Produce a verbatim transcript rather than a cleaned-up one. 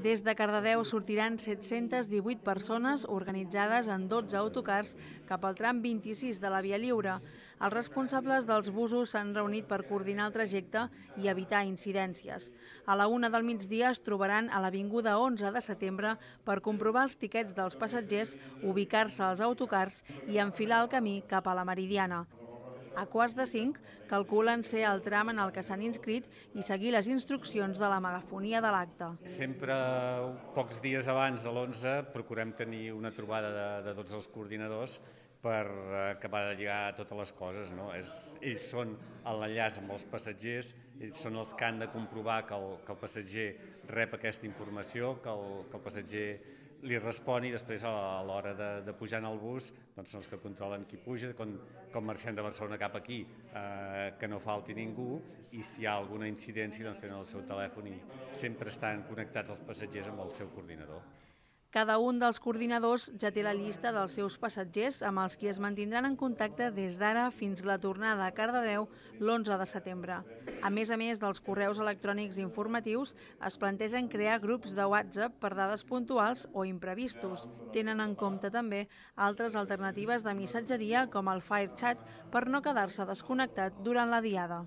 Des de Cardedeu sortiran set-centes divuit persones organitzades en dotze autocars cap al tram vint-i-sis de la Via Lliure. Els responsables dels busos s'han reunit per coordinar el trajecte i evitar incidències. A la una del migdia es trobaran a l'Avinguda onze de setembre per comprovar els tiquets dels passatgers, ubicar-se als autocars i enfilar el camí cap a la Meridiana. A quarts de cinc calculen ser el tram en el que s'han inscrit i seguir les instruccions de la megafonia de l'acte. Sempre pocs dies abans de l'onze procurem tenir una trobada de, de tots els coordinadors per acabar de lligar totes les coses. No? És, ells són l'enllaç amb els passatgers, ells són els que han de comprovar que el, que el passatger rep aquesta informació, que el, que el passatger li respon i després a l'hora de, de pujar en el bus doncs són els que controlen qui puja, com, com marxem de Barcelona cap aquí, eh, que no falti ningú, i si hi ha alguna incidència doncs tenen el seu telèfon i sempre estan connectats els passatgers amb el seu coordinador. Cada un dels coordinadors ja té la llista dels seus passatgers amb els qui es mantindran en contacte des d'ara fins la tornada a Cardedeu l'onze de setembre. A més a més dels correus electrònics informatius, es plantegen crear grups de WhatsApp per dades puntuals o imprevistos. Tenen en compte també altres alternatives de missatgeria com el FireChat per no quedar-se desconnectat durant la diada.